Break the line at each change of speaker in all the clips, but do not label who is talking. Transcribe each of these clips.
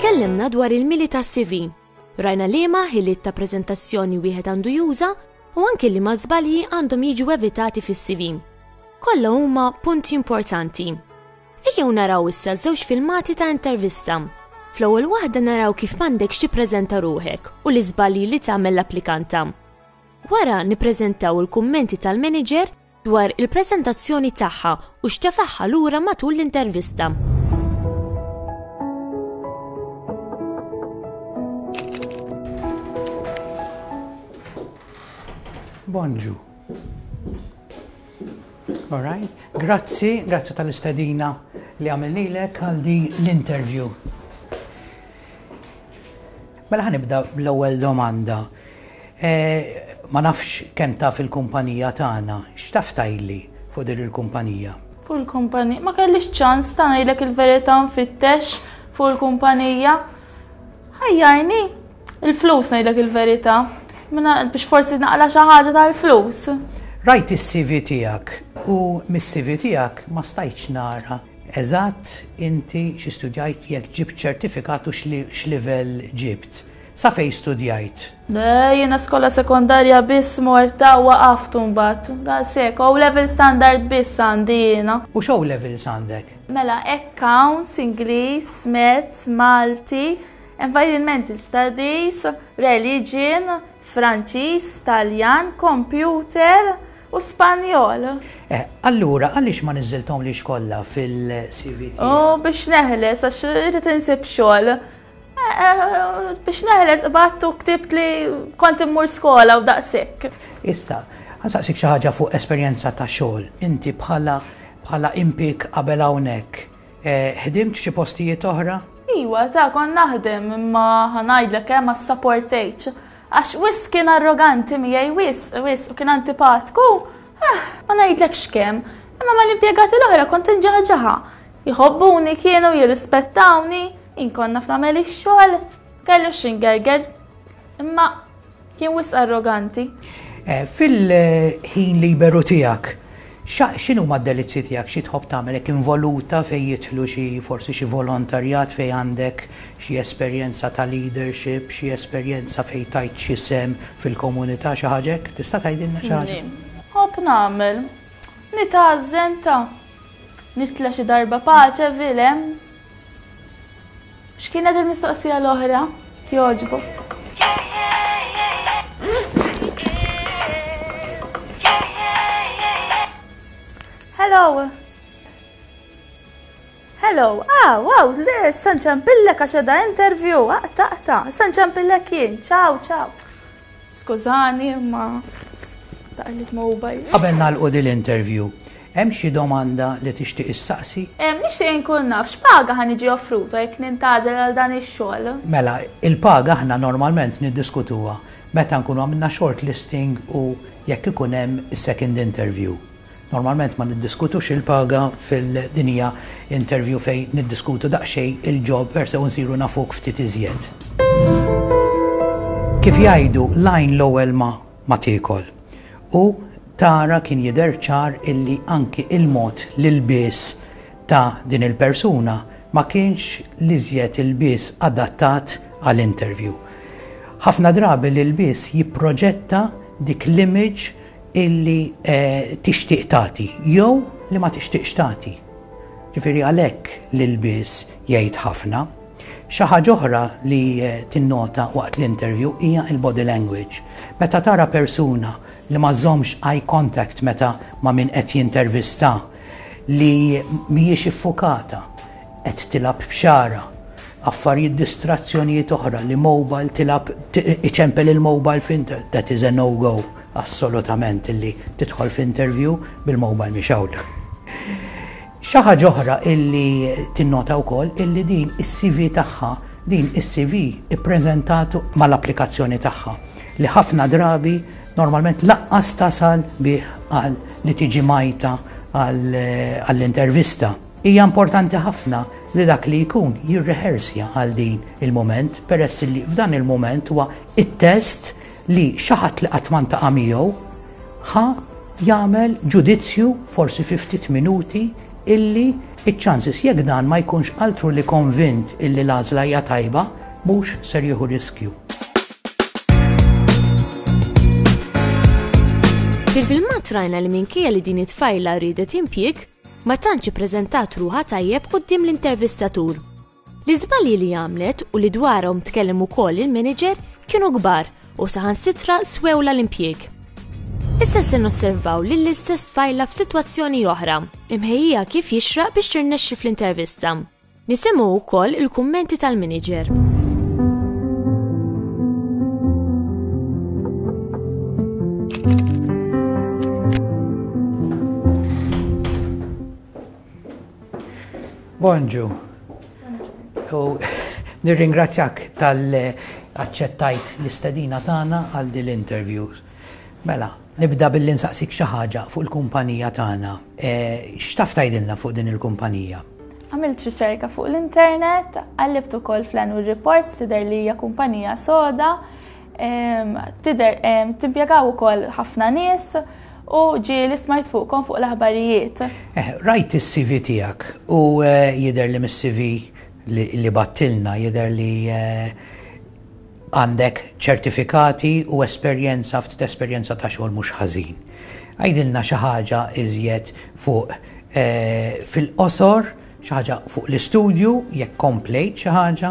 Tkellimna dwar il-mili tas-CV. Rajna liema ħiliet ta' preżentazzjoni wieħed għandu juża u anki liema żbalji għandhom jiġu evitati fis-CV. Kollha huma punti importanti. Ejjew naraw issa żewġ filmati ta' intervista. Fl-ewwel waħda naraw kif m'għandekx tippreżenta ruħek u l-iżbalji li tagħmel l-applikanta. Wara nippreżentaw il-kummenti tal-manager dwar il-preżentazzjoni tagħha u x'tefagħha lura matul l-intervista.
Bonġu. All right. Grazzi, grazzi tal-istedina li għamilnilek għal din l-interview. Mela ħa nibda bl-ewwel domanda. Eh, ma nafx kemm taf il-kumpanija tagħna, x'taf tgħidli fuq din il-kumpanija?
Fuq il-kumpanija, ma kellix ċans ta' ngħidlek il-verità nfittex fuq il-kumpanija. Ħajjarni, il-flus ngħidlek il-verità. Minna biex forsi naqla xi ħaġa tal-flus.
Rajt is-CV tiegħek u mis-CV tiegħek ma stajtx nara Eżatt inti xi studjajt jekk ġibt ċertifikat u x'livell ġibt. Sa fejn studjajt?
Le, jiena skola sekondarja biss morta u waqaft imbagħad. Daqshekk, O level standard biss għandi jiena.
U x'O levels għandek?
Mela, accounts, Ingliż, Maths, Malti, Environmental Studies, Religion, Franċiż, Taljan, Computer, U Spanjol.
Eh, allura, għaliex ma niżżilthomlix kollha fil-CV tiegħek?
U biex neħles, għax irrid insib xogħol. Eh, eh, biex neħles, battu ktibt li kont immur skola u daqshekk.
Issa, ħansaqsik xi ħaġa fuq esperjenza ta' xogħol. Inti bħala bħala impik qabel hawnhekk, ħdimt xi postijiet oħra?
Iwa, ta' kon naħdem imma ħanajdlek hemm ma ssaportejtx. Għax wisq kien arroganti miegħi wisq, wisq, u kien antipatku. Eh, ma ngħidlekx kemm. Imma mal-impjegati l-oħra kont inġaħġaħa. Jħobbuni kienu, jirrispettawni, inkun naf nagħmel ix-xogħol, kellu x'ingerger. Imma kien wisq arroganti.
Eh,
fil-ħin
liberu tiegħek, X'inhuma d-delizzji tiegħek, xi tħobb tagħmel hekk involuta fejn jidħlu xi forsi xi volontarjat fejn għandek xi esperjenza ta' leadership, xi esperjenza fejn tajt xi sehem fil-komunità, xi ħaġa hekk? Tista' tgħidilna xi ħaġa?
Nħobb nagħmel. Nitgħażżen ta' nitla' xi darba Paceville hemm. X'kienet il-mistoqsija l-oħra? Jogħġbok. Hello. Hello. Ah, wow, le, sanċampillek għax edha interview. Aqta, aqta. Sanċampillek jien. Ciao, ciao. Skużani, ma taqlit mobile.
Qabel nagħlqu din l-interview, hemm xi domanda li tixtieq issaqsi?
Nixtieq inkun naf x'paga ħa niġi offruta jekk nintgħażel għal dan ix-xogħol.
Mela, il-paga aħna normalment niddiskutuha meta nkunu għamilna shortlisting u jekk ikun hemm is-second interview. Normalment ma niddiskutux il-paga fil din hija interview fejn niddiskutu daqsxejn il-job per se u nsiru nafuk ftit iżjed. Kif jgħidu, l-għajn l-ewwel ma ma tiekol. U tara kien jidher ċar illi anki il-mod l-ilbies ta' din il-persuna ma kienx l-iżjed ilbies adattat għal interview. Ħafna drabi l-ilbies jipproġetta dik l-image illi tixtieq tagħti jew li ma tixtieqx tagħti. Ġifieri għalhekk l-ilbies jgħid ħafna. Xi ħaġa oħra li tinnota waqt l-interview hija l-body language. Meta tara persuna li ma żżommx eye contact meta ma' min qed jintervista, li mhijiex iffukata, qed tilgħab b'xagħarha, affarijiet distrazzjonijiet oħra li mobile tilgħab iċempel il-mobile f'inter that is a no go assolutament illi tidħol f'interview bil-mobile mixgħul. Xi ħaġa oħra illi tinnota wkoll illi din is-CV tagħha, din is-CV ippreżentatu mal-applikazzjoni tagħha li ħafna drabi normalment laqqas tasal bih għal li tiġi majta għall-intervista. Hija importanti ħafna li dak li jkun jirrehersja għal din il-mument peress li f'dan il-mument huwa it-test li xi ħadd li qatt ma ntaqa' miegħu ħa jagħmel ġudizzju forsi fi ftit minuti illi Iċ-chances jekk dan ma jkunx altru li konvint illi l-għażla hija tajba, mhux ser jieħu riskju.
Fil-filmat rajna li minkejja li din it-tfajla riedet impjieg, ma tantx ippreżentat ruħha tajjeb quddiem l-intervistatur. L-iżbalji li għamlet u li dwarhom tkellem ukoll il-manager kienu kbar u saħansitra swewla l-impjieg. Issa se nosservaw lill-istess tfajla f'sitwazzjoni oħra, imħejjija kif jixraq biex tirnexxi fl-intervista. Nisimgħu wkoll il-kummenti tal-manager.
Bonġu. U nirringrazzjak tal-aċċettajt l-istedina tagħna għal din l-interview. Mela, nibda billi nsaqsik xi ħaġa fuq il-kumpanija tagħna. E, x'taf tgħidilna fuq din il-kumpanija?
Għamilt riċerka fuq l-internet, qallibt ukoll fl-annual reports tidher li hija kumpanija soda, tidher timpjegaw ukoll ħafna nies u ġieli smajt fuqkom fuq l-aħbarijiet.
Eh, rajt is-CV tiegħek u eh, jidher li mis-CV li battilna jidher li eh, għandek ċertifikati u esperjenza ftit esperjenza ta' xogħol mhux ħażin. Għidilna xi ħaġa iżjed fuq fil-qosor Xi ħaġa fuq l-istudju, jekk komplejt xi ħaġa,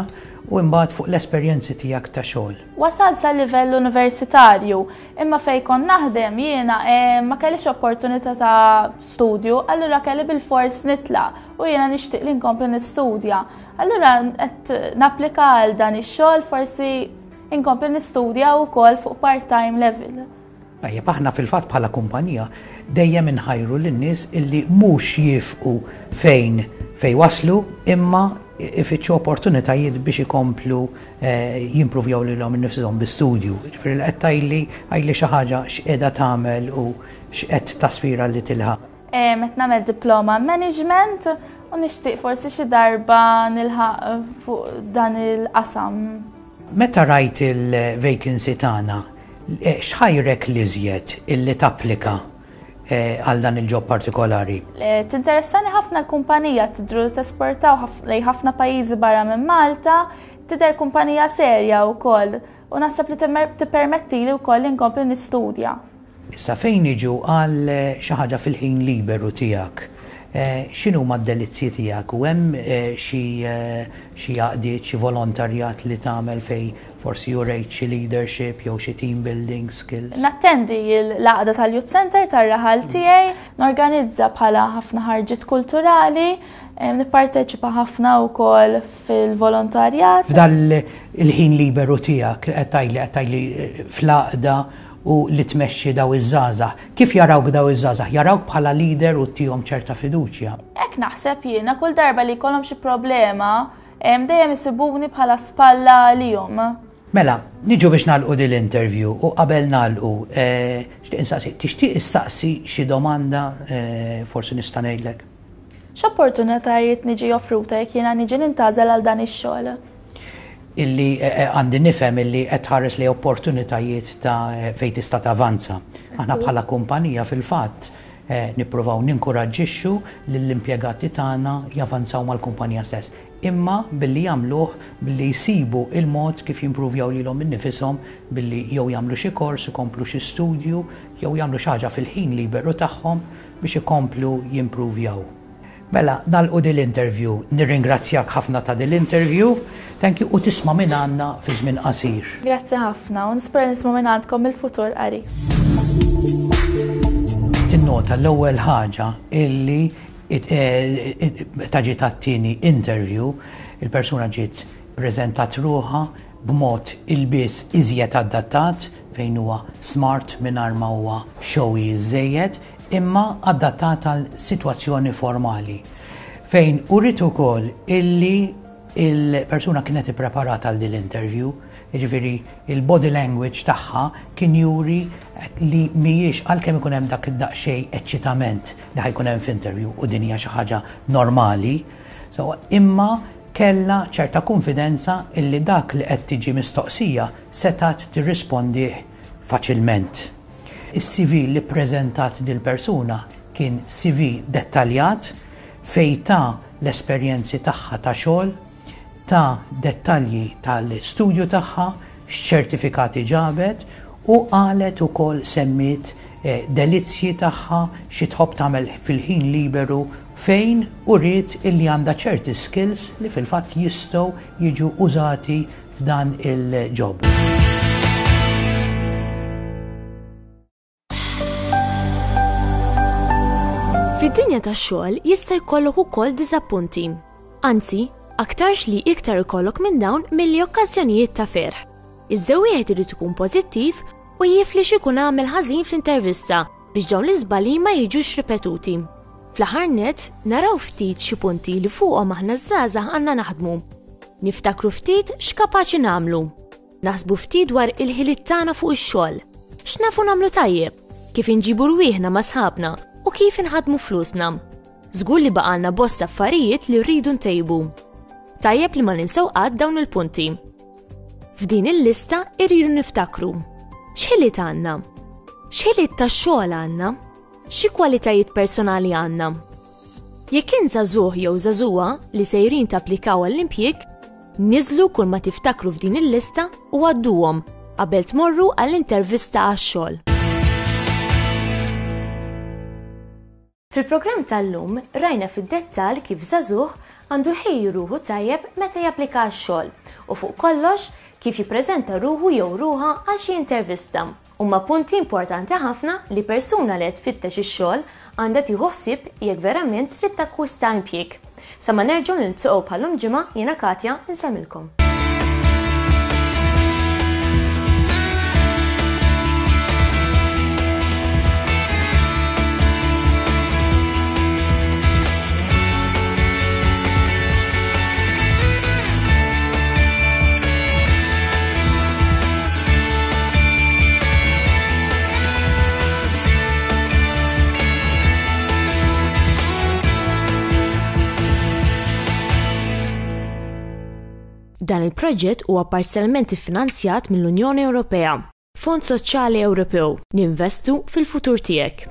u imbagħad fuq l-esperjenzi tiegħek ta' xogħol.
Wasalt sa livell universitarju, imma fejn kont naħdem jiena eh, ma kellix opportunità ta' studju, allura kelli bilfors nitlaq u jiena nixtieq li nkompli nistudja. Allura qed napplika għal dan ix-xogħol forsi inkompli nistudja wkoll fuq part-time level.
Tajjeb, aħna fil-fatt bħala kumpanija dejjem inħajru lin-nies illi mhux jiefqu fejn fejn waslu imma ifittxu opportunitajiet biex ikomplu eh, jimpruvjaw lilhom innifshom bi studju. Ġifieri li qed tgħidli għidli xi ħaġa x'qiegħda tagħmel u x'qed taspira li tilħaq.
Eh, qed nagħmel diploma management u nixtieq forsi xi darba nilħaq fuq dan il-qasam.
Meta rajt il-vacancy tagħna, eh, x'ħajrek l-iżjed illi tapplika eh, għal dan il-job partikolari?
Eh, tinteressani ħafna l-kumpanija tidru li tesportaw lejn ħafna pajjiżi barra minn Malta, tidher kumpanija serja wkoll u naħseb li tippermettili wkoll li nkompli nistudja.
Issa fejn niġu għal xi ħaġa fil-ħin liberu tiegħek, x'inhuma d-delizzji tiegħek u hemm xi xi għaqdiet, xi volontarjat li tagħmel fejn forsi urejt xi leadership jew xi team building skills?
Nattendi l-għaqda tal-Youth Centre tar-raħal tiegħi, norganizza bħala ħafna ħarġiet kulturali, nipparteċipa ħafna wkoll fil-volontarjat.
F'dan il-ħin liberu tiegħek li qed tgħidli qed tgħidli fl-għaqda u li tmexxi daw iż-żgħażagħ. Kif jarawk daw iż-żgħażagħ? Jarawk bħala leader u ttihom ċerta fiduċja?
Hekk naħseb jiena, kull darba li jkollhom xi problema, dejjem isibuni bħala spalla għalihom.
Mela, niġu biex nagħlqu din l-interview u qabel nagħlqu, eh, xtieq insaqsi, tixtieq issaqsi xi domanda eh, forsi nista' ngħidlek?
X'opportunitajiet niġi offruta jekk jiena niġi nintgħażel għal dan ix-xogħol?
Illi eh, eh, għandi nifhem illi qed tħares li opportunitajiet ta' eh, fejn tista' tavanza. Aħna bħala kumpanija fil-fatt nippruvaw ninkuraġġixxu lill-impjegati tagħna javanzaw mal-kumpanija stess. Imma billi jagħmluh billi jsibu il-mod kif jimpruvjaw lilhom innifishom billi jew jagħmlu xi kors, ikomplu xi studju, jew jagħmlu xi ħaġa fil-ħin liberu tagħhom biex ikomplu jimpruvjaw. Mela, nagħlqu din l-interview. Nirringrazzjak ħafna ta' din l-interview. Thank you u tisma' minn għandna fi żmien qasir.
Grazzi ħafna u nispera nisma' minn għandkom il-futur qarib.
Tinnota l-ewwel ħaġa illi eh, meta ġiet għat-tieni interview, il-persuna ġiet preżentat ruħha b'mod ilbies iżjed adattat fejn huwa smart mingħajr ma huwa showy żejjed, imma adattat għal sitwazzjoni formali, fejn uriet ukoll illi il-persuna kienet ippreparata għal din l-interview, jiġifieri il-body language tagħha kien juri li mhijiex għalkemm ikun hemm dak id-daqsxejn eċċitament li ħa jkun hemm f'interview u din hija xi ħaġa normali, so, imma kellha ċerta kunfidenza illi dak li qed tiġi mistoqsija setgħet tirrispondih faċilment. Is-CV li ppreżentat dil-persuna kien CV dettaljat. fejn ta l-esperjenzi tagħha ta' xogħol, ta dettalji tal-istudju tagħha, x'ċertifikati ġabet u qalet ukoll semmiet delizzji tagħha, xi tħobb tagħmel fil-ħin liberu fejn uriet illi għandha ċerti skills li fil-fatt jistgħu jiġu użati f'dan il-job.
Fid-dinja tax-xogħol jista' jkollok ukoll diżappunti. Anzi, aktarx li iktar ikollok minn dawn milli okkażjonijiet ta' ferħ. Iżda wieħed irid ikun pożittiv u jifli x'ikun għamel ħażin fl-intervista biex dawn l-iżbalji ma jiġux ripetuti. Fl-aħħar nett, naraw ftit xi punti li fuqhom aħna ż-żgħażagħ għandna naħdmu. Niftakru ftit x'kapaċi nagħmlu. Naħsbu ftit dwar il-ħiliet tagħna fuq ix-xogħol. X'nafu nagħmlu tajjeb? Kif inġibu rwieħna ma' sħabna u kif inħaddmu flusna? Żgur li baqgħalna bosta affarijiet li rridu ntejbu. Tajjeb li ma ninsew qatt dawn il-punti. F'din il-lista irridu niftakru. X'ħiliet għandna? X'ħiliet tax-xogħol għandna? Xi kwalitajiet personali għandna? Jekk int żagħżugħ jew żagħżugħa li sejrin tapplikaw għall-impjieg, niżlu kull ma tiftakru f'din il-lista u għadduhom qabel tmorru għall-intervista għax-xogħol. Fil-programm tal-lum rajna fid-dettall kif żagħżugħ għandu jħejji ruħu tajjeb meta japplika għax-xogħol u fuq kollox kif jippreżenta ruħu jew ruħha għal xi intervista. Huma punti importanti ħafna li persuna li qed tfittex ix-xogħol għandha tieħu ħsieb jekk verament trid takkwista impjieg. Sa ma nerġgħu niltaqgħu bħal-lum ġimgħa jiena Katja nsellmilkom. Dan il-proġett huwa parzjalment iffinanzjat mill-Unjoni Ewropea. Fond Soċjali Ewropew, ninvestu fil-futur tiegħek.